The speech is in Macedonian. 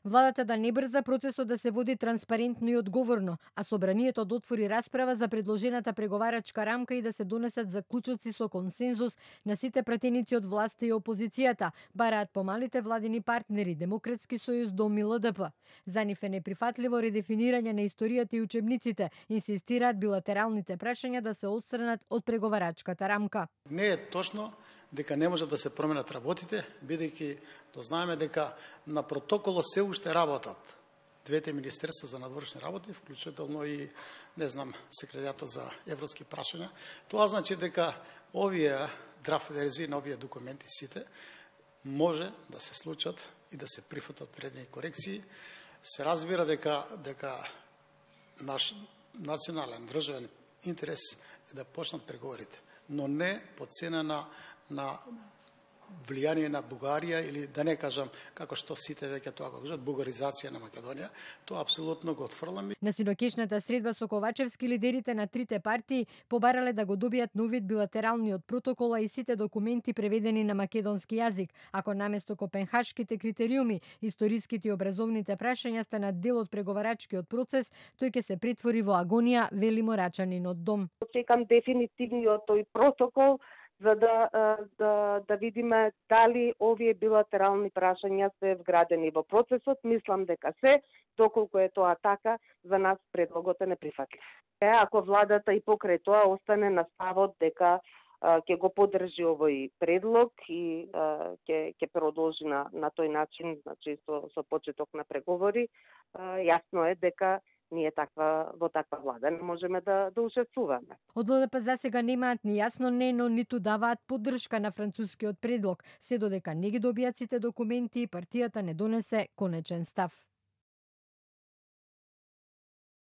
Владата да не брза процесот да се води транспарентно и одговорно, а собранието да отвори расправа за предложената преговарачка рамка и да се донесат заклучоци со консензус на сите пратеници од власта и опозицијата, бараат помалите владини партнери Демократски сојуз до ЛДП. За нив е неприфатливо редефинирање на историјата и учебниците, инсистираат билатералните прашања да се отстранат од преговарачката рамка. Не е точно дека не може да се променат работите, бидејќи дознаеме дека на протоколот се уште работат двете министерства за надворешни работи, вклучително и, не знам, секретаријатот за европски прашања. Тоа значи дека овие драфт верзии на овие документи сите може да се случат и да се прифатат одредени корекции. Се разбира дека наш национален државен интерес е да почнат преговорите, но не по цена на влијание на Бугарија или да не кажам како што сите веќе тоа го кажат бугаризација на Македонија, тоа апсолутно го отфрламе. На синокешната средба со Ковачевски лидерите на трите партии побарале да го добијат нов вид билатералниот протокол и сите документи преведени на македонски јазик, ако наместо копенхашките критериуми, историските и образовните прашања станат дел од преговарачкиот процес, тој ќе се претвори во агонија, вели Морачанин од Дом. Чекам дефинитивниот тој протокол за да видиме дали овие билатерални прашања се вградени во процесот. Мислам дека се, доколку е тоа така, за нас предлогот е неприфатлив. Ако владата и покрај тоа остане на ставот дека ќе го поддржи овој предлог и ќе продолжи на тој начин, значи со почеток на преговори, јасно е дека ние во таква влада не можеме да учествуваме. Од ЛДП за сега немаат ни јасно не, но ниту даваат поддршка на францускиот предлог, се додека не ги добијат сите документи и партијата не донесе конечен став.